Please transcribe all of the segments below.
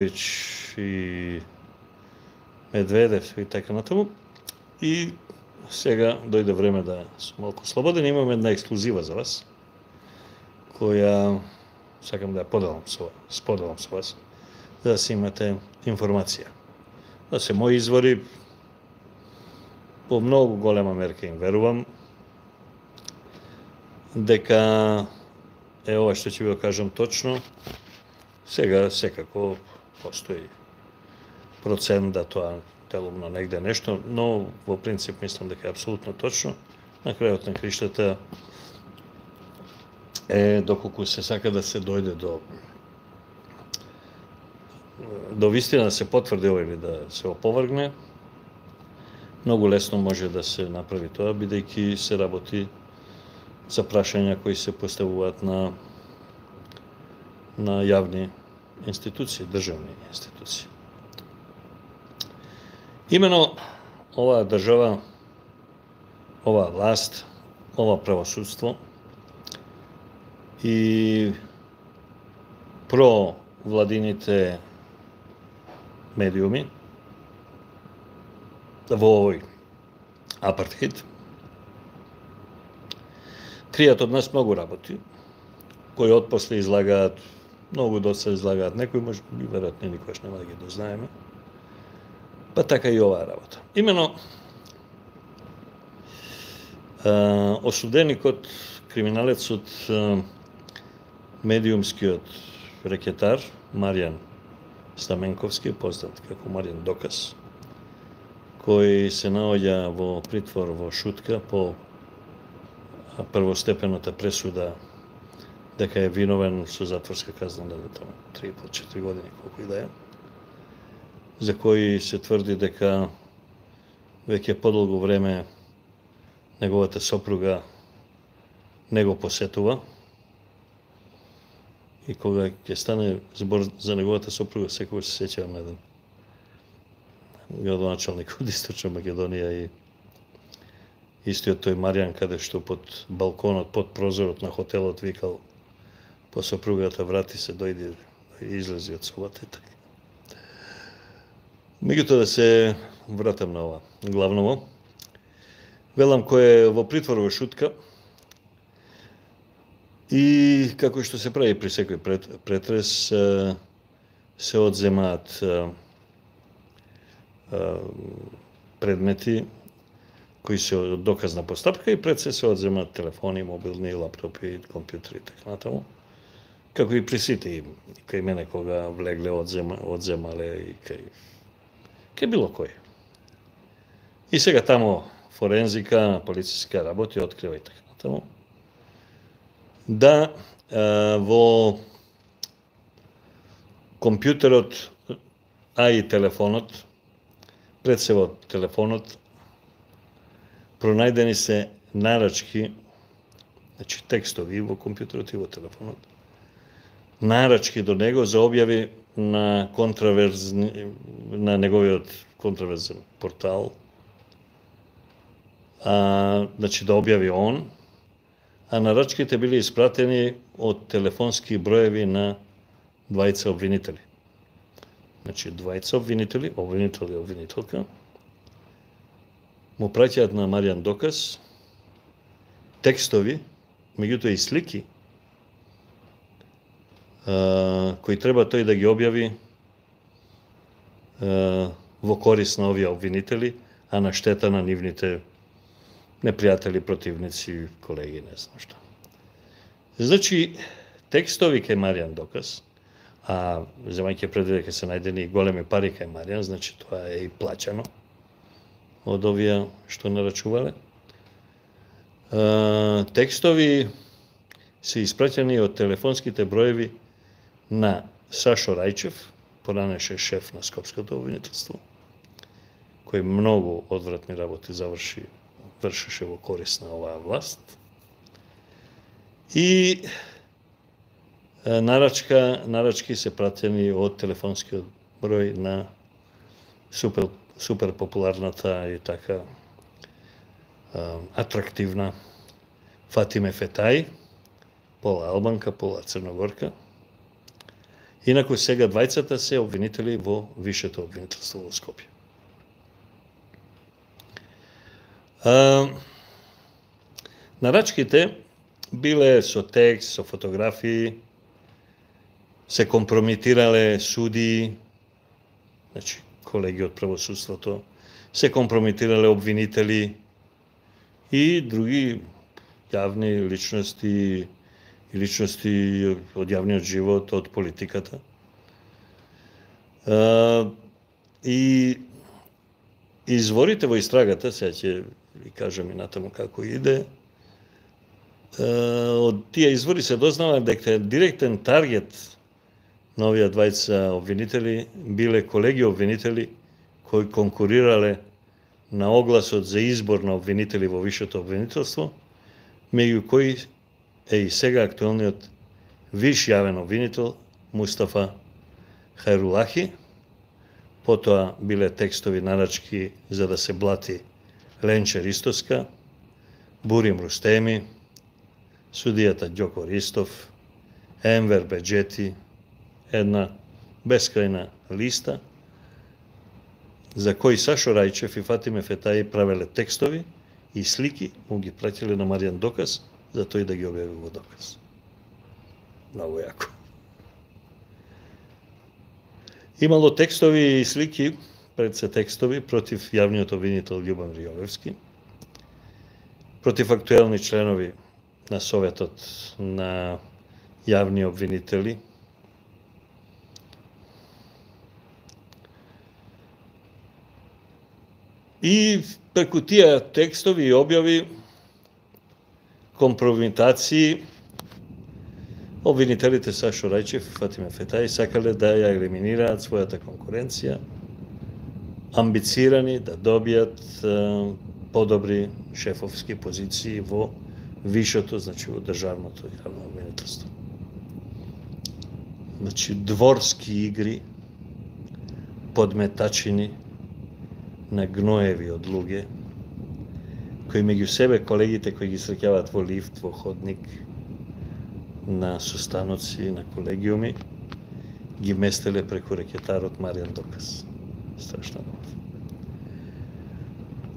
и Медведев и така натаму. И сега дојде време да сум малку слободен. Имам една ексклузива за вас, која сакам да ја споделам со вас, за да си имате информација. Да се мои извори, по многу голема мерка им верувам, дека ова што ќе ви го кажам точно. Сега секако постои процент да тоа делумно негде нешто, но во принцип мислам дека е апсолутно точно. На крајот на криштата е доколку се сака да се дојде до вистина, да се потврди ова или да се оповргне, многу лесно може да се направи тоа, бидејќи се работи за прашања кои се поставуваат на јавни институции, државни институции. Имено оваа држава, оваа власт, ова правосудство и провладините медиуми во овој апартеид кријат од нас многу работи, кои отпосле излагаат, многу доста излагаат, некои може би веројатно никогаш нема да ги дознаеме. Па така и оваа работа. Имено осуденикот, криминалецот, медиумскиот рекетар Маријан Стаменковски, познат како Маријан Доказ, кој се наоѓа во притвор во Шутка по првостепената пресуда дека е виновен со затворска казна на 3,5-4 години, колку и да е, за кој се тврди дека веќе подолго време неговата сопруга не го посетува, и кога ќе стане збор за неговата сопруга, секогаш се сеќавам на еден градоначалник од Источна Македонија и истиот тој Маријан, каде што под балконот, под прозорот на хотелот викал по сопругата: врати се, дојди и излези од собата и така. Меѓутоа да се вратам на ова главново. Велам, кој е во притвор во Шутка и како што се прави при секој претрес, се одземаат предмети кои се од доказна постапка и пред се одземаат телефони, мобилни, лаптопи, компјутери и така натаму. Како и при сите, кај мене кога влегле одземале и кај било кој. И сега таму форензика, полициска работи открива и така натаму. Да во компјутерот, а и телефонот, пред се во телефонот, пронајдени се нарачки, значи текстови во компјутерот и во телефонот, нарачки до него за објави на неговиот контраверзен портал, значи да објави он, а нарачките били испратени од телефонски броеви на двајца обвинители. Значи двајца обвинители, обвинител и обвинителка, му праќаат на Маријан Доказ текстови, меѓутоа и слики, кои треба тој да ги објави во корис на овие обвинители, а на штета на нивните непријатели, противници, колеги, не знам што. Значи, текстови кај Маријан Доказ, а земајќи предвид дека се најдени големи пари кај Маријан, значи тоа е и плаќано од овие што нарачувале. Текстови се испраќани од телефонските броеви на Сашо Рајчев, поранеше шеф на Скопското обвинителство, кој многу одвратни работи вршеше во корис на оваа власт. И нарачки се пратени од телефонскиот број на супер популарната и така атрактивна Фатиме Фетај, пола албанка, пола црногорка, Инаку сега двајцата се обвинители во вишето обвинителство во Скопје. Нарачките биле со текст, со фотографии, се компрометирале судии, значи колеги од правосудството, се компрометирале обвинители и други јавни личности и личности од јавниот живот, од политиката. И изворите во истрагата, сега ќе ви кажам и натаму како иде, од тие извори се дознава дека директен таргет на овие двајца обвинители биле колеги обвинители кои конкурирале на огласот за избор на обвинители во вишето обвинителство, меѓу кои е и сега актуелниот виш јавен обвинител Мустафа Хајрулахи. Потоа биле текстови нарачки за да се блати Ленче Ристоска, Бурим Рустеми, судијата Ѓоко Ристов, Енвер Беџети, една бескрајна листа за кои Сашо Рајчев и Фатиме Фетаи правеле текстови и слики, му ги пратиле на Маријан Доказ, за тој да ги објави во Доказ. Многу јако. Имало текстови и слики, пред се текстови, против јавниот обвинител Љубомир Јовевски, против актуелни членови на Советот на јавни обвинители, и преку тие текстови и објави, компрометации, обвинителите Сашо Рајчев и Фатиме Фетаи сакале да ја елиминираат својата конкуренција, амбицирани да добијат подобри шефовски позиции во вишето, значи во државното јавно обвинителство. Значи дворски игри, подметачини на гноеви од луѓе, кои меѓу себе колегите кои ги среќаваат во лифт, во ходник, на состаноци, на колегиуми, ги местеле преку рекетарот Маријан Доказ. Страшно много.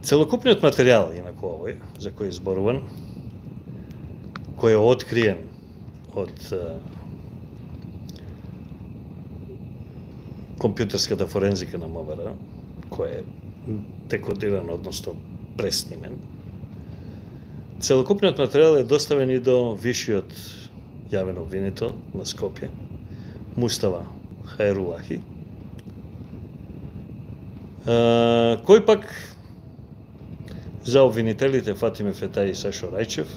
Целокупниот материјал, инаку овој, за кој е зборуван, кој е откриен од компјутерската форензика на МВР, кој е декодиран, односно преснимен. Целокупниот материјал е доставен и до вишиот јавен обвинител на Скопје, Мустафа Хајрулахи, кој пак за обвинителите Фатиме Фетаи и Сашо Рајчев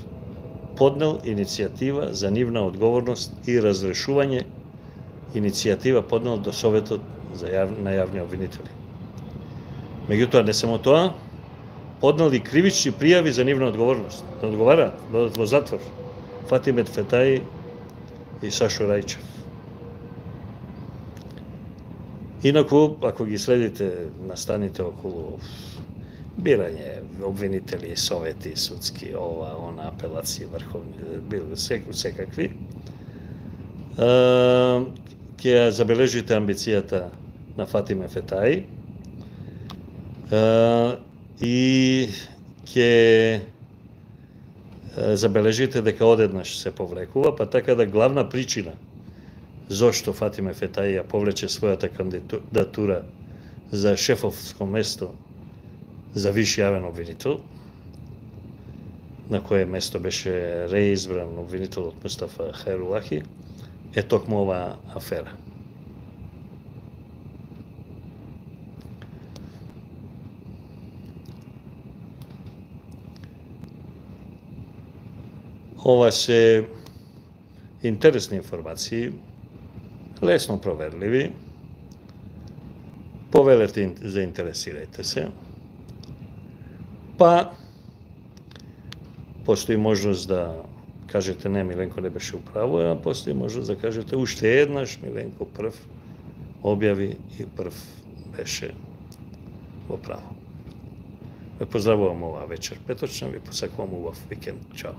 поднел иницијатива за нивна одговорност и разрешување, иницијатива поднел до Советот на јавни обвинители. Меѓутоа, не само тоа, поднел и кривични пријави за нивна одговорност, да одговараат, додат во затвор Фатиме Фетаи и Сашо Рајчев. Инаку, ако ги следите настаните околу бирање обвинители, совети, судски, ова, она, апелации, врховни, секакви, ќе забележите амбицијата на Фатиме Фетаи и ќе забележите дека одеднаш се повлекува, па така да главна причина зошто Фатиме Фетаи ја повлече својата кандидатура за шефовско место за виш јавен обвинител, на кое место беше реизбран обвинителот Мустафа Хајрулахи, е токму оваа афера. Ова се интересни информации, лесно проверливи. Повелете, заинтересирајте се. Па, постои можност да кажете не, Миленко не беше управо, а постои можност да кажете уште еднаш Миленко прв објави и прв беше во право. Ве поздравувам оваа вечер петочна, ви посакувам убав викенд. Чао.